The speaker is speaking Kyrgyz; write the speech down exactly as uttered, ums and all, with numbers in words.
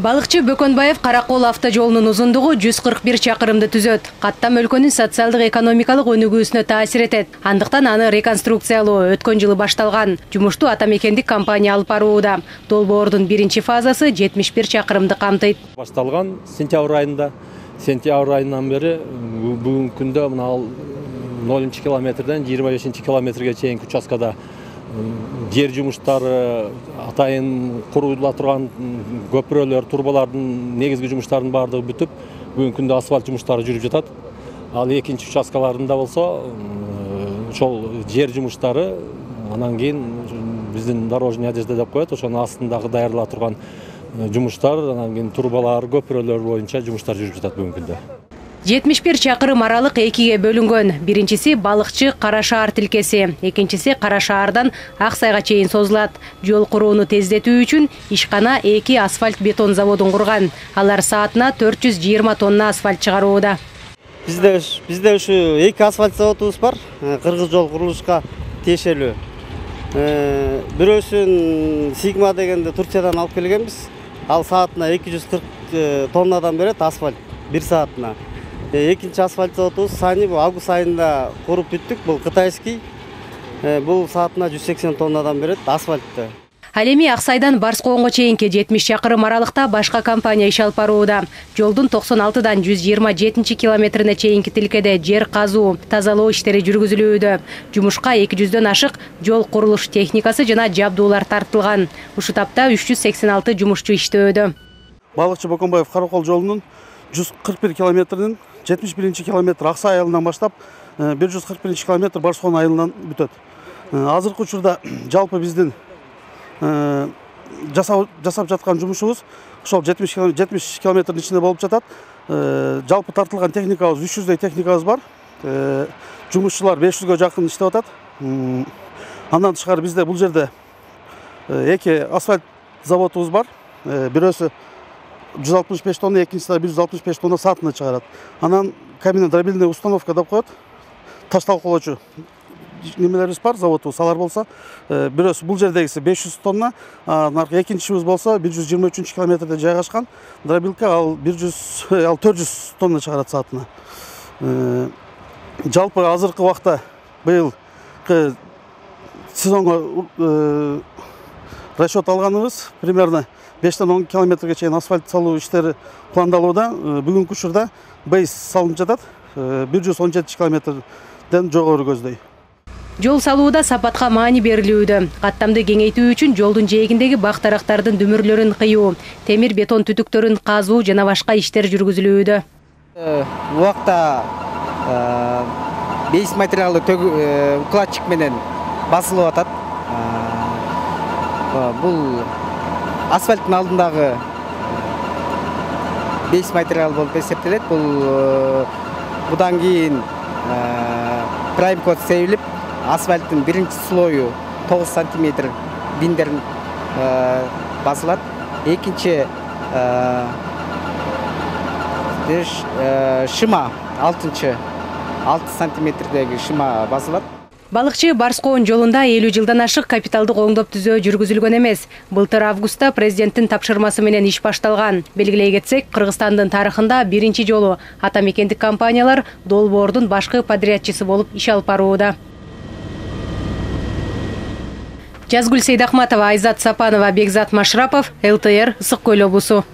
Балыкчы Бөкөнбаев Каракол автожолунун узундугу жүз кырк бир чакырымды түзөт. Каттам өлкөнүн социалдык экономикалык өнүгүүсүнө таасир этет. Андыктан аны реконструкциялоо өткөн жылы башталган. Жумушту ата мекендик компания алып барууда. Долбоордун биринчи фазасы жетимиш бир чакырымды камтыйт. Башталган сентябрь айында. Сентябрь айынан бери бүгүнкү күндө мына нолунчу километрден жыйырма бешинчи километрге чейинки участкада жер жумуштары, атайын курулула турган көпүрөлөр, турбалардын негизги жумуштарынын баардыгы бүтүп, бүгүнкү күндө асфальт жумуштары жүрүп жатат. Ал экинчи участкаларында болсо, ошол жер жумуштары анан кийин биздин дорожный одежда деп коет, ошонун астындагы даярдала турган жумуштар, анан кийин турбалар, көпүрөлөр боюнча жумуштар жүрүп жатат бүгүнкү күндө. жетимиш бир чакырым аралык экиге бөлүнгөн. Биринчиси Балыкчы Кара Шаар тилкеси, экинчиси Кара Шаардан Ак Сайга чейин созулат. Жол курууну тездетүү үчүн ишкана эки асфальт бетон заводун курган. Алар саатына төрт жүз жыйырма тонна асфальт чыгарууда. Бизде бизде ушу эки асфальт заводубуз бар. Кыргыз жол курулушка тиешелүү. Бирөөсүн Сигма дегенде Турциядан алып келгенбиз. Ал саатына эки жүз кырк тоннадан берет асфальт бир саатына. Экинчи асфальт заводубуз Сани бул август айында куруп бүттүк. Бул кытайский. Бул саатына жүз сексен тоннадан берет асфальтты. Ал эми Ак Сайдан Барскоонго чейинки жетимиш чакырым аралыкта башка компания иш алып барууда. Жолдун токсон алтыдан жүз жыйырма жетинчи километрине чейинки тилкеде жер казуу, тазалоо иштери жүргүзүлүүдө. Жумушка эки жүздөн ашык жол курулуш техникасы жана жабдуулар тартылган. Ушул тапта үч жүз сексен алты жумушчу иштөөдө. Балыкчы Бөкөнбаев Каракол жолунун жүз кырк бир километринин жетимиш биринчи километр Ак Сай айылынан баштап бир жүз кырк биринчи километр Барскоон айылынан бүтөт. Азыркы учурда жалпы биздин жасап жасап жаткан жумушубуз ошол жетимиш километрдин ичинде болуп жатат. Жалпы тартылган техникабыз үч жүздөй техникабыз бар. Жумушчулар беш жүзгө жакын иштеп атат. Андан тышкары бизде бул жерде эки асфальт заводубуз бар. Бирөөсү жүз алтымыш беш тонна, экинчиси бир жүз алтымыш беш тонна саатына чыгарат. Анан каменно-дробильный установка деп коет. Таш талкоолоочу немелерибиз бар, заводубуз. Алар болсо, бирөөсү бул жердегиси беш жүз тонна, анан экинчисибиз болсо бир жүз жыйырма үчүнчү километрде жайгашкан. Дробилка ал бир жүз, ал төрт жүз тонна чыгарат саатына. Жалпы азыркы убакта быйылкы сезонго расчет алганыбыз примерно бештен он километрге чейин асфальт салуу иштери пландалууда. Бүгүнкү учурда бейс салынып жатат. бир жүз он жети километрден жогору көздөй. Жол салууда сапатка маани берилүүдө. Каттамды кеңейтүү үчүн жолдун жээгиндеги бак дарактардын дүмүрлөрүн кыюу, темир бетон түтүктөрүн казуу жана башка иштер жүргүзүлүүдө. Убакта бейс материалы укладчик менен басылып атат. Бул асфальттын алдындагы бейс материал болуп эсептелет. Бул будан кийин прайм код себилип, асфальттын биринчи слою тогуз сантиметр биндерин басылат. Экинчи шыма алтынчы алты сантиметрдеги шыма басылат. Балыкчы Барскоон жолунда элүү жылдан ашык капиталдык оңдоп түзөө жүргүзүлгөн эмес. Былтыр августта президенттин тапшырмасы менен иш башталган. Белгилей кетсек, Кыргызстандын тарыхында биринчи жолу ата мекендик компаниялар долбоордун башкы подрядчысы болуп иш алып барууда. Жазгүл Сейдахматова, Айзат Сапанова, Бекзат Машрапов, эл тэ эр, Ысык Көл облусу.